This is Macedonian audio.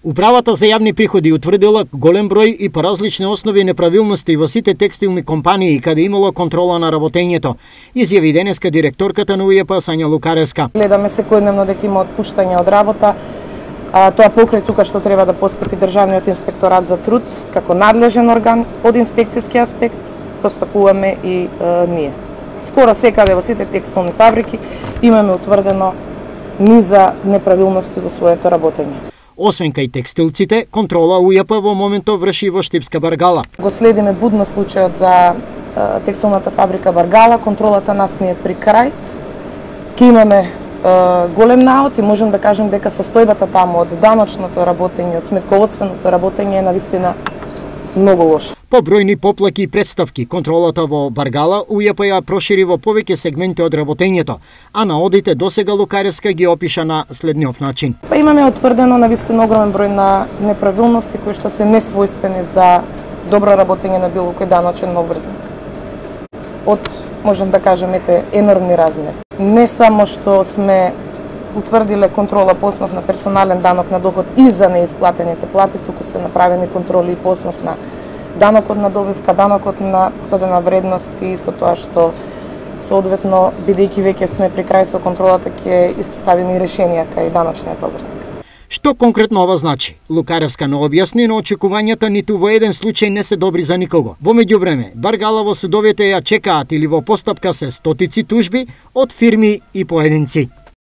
Управата за јавни приходи утврдила голем број и по различни основи неправилности во сите текстилни компании каде имало контрола на работењето, изјави денеска директорката на УЈП Сања Лукаревска. Гледаме секојдневно дека има отпуштање од работа, тоа покрај тука што треба да постапи Државниот инспекторат за труд како надлежен орган од инспекцијски аспект, постапуваме и ние. Скоро секаде во сите текстилни фабрики имаме утврдено низа неправилности во своето работење. Освен кај текстилците, контрола УЈП во моментов врши во Штипска Баргала. Го следиме будно случајот за текстилната фабрика Баргала, контролата нас не е при крај. Ке имаме голем наод и можем да кажем дека состојбата таму од даночното работење, од сметководственото работење е навистина многу лоша. По бројни поплаки и представки, контролата во Баргала УЈП ја прошири во повеќе сегменти од работењето, а наодите досега Лукаревска ги опиша на следниот начин. Имаме утврдено навистина огромен број на неправилности кои што се несвојствени за добро работење на било кој даночен обврзник. Од, можем да кажем, енормни размери. Не само што сме утврдиле контрола по основ на персонален данок на доход и за неисплатените плати, туку се направени контроли и по основ на данокот на добивка, данокот на додадена вредност и со тоа што соодветно, бидејќи веќе сме при крај со контролата, ќе испоставиме и решенија кај даночниот обврзник. Што конкретно ова значи? Лукаревска не објасни, но очекувањата ниту во еден случај не се добри за никого. Во меѓувреме, Баргала во судовите ја чекаат или во постапка се стотици тужби од фирми и поединци.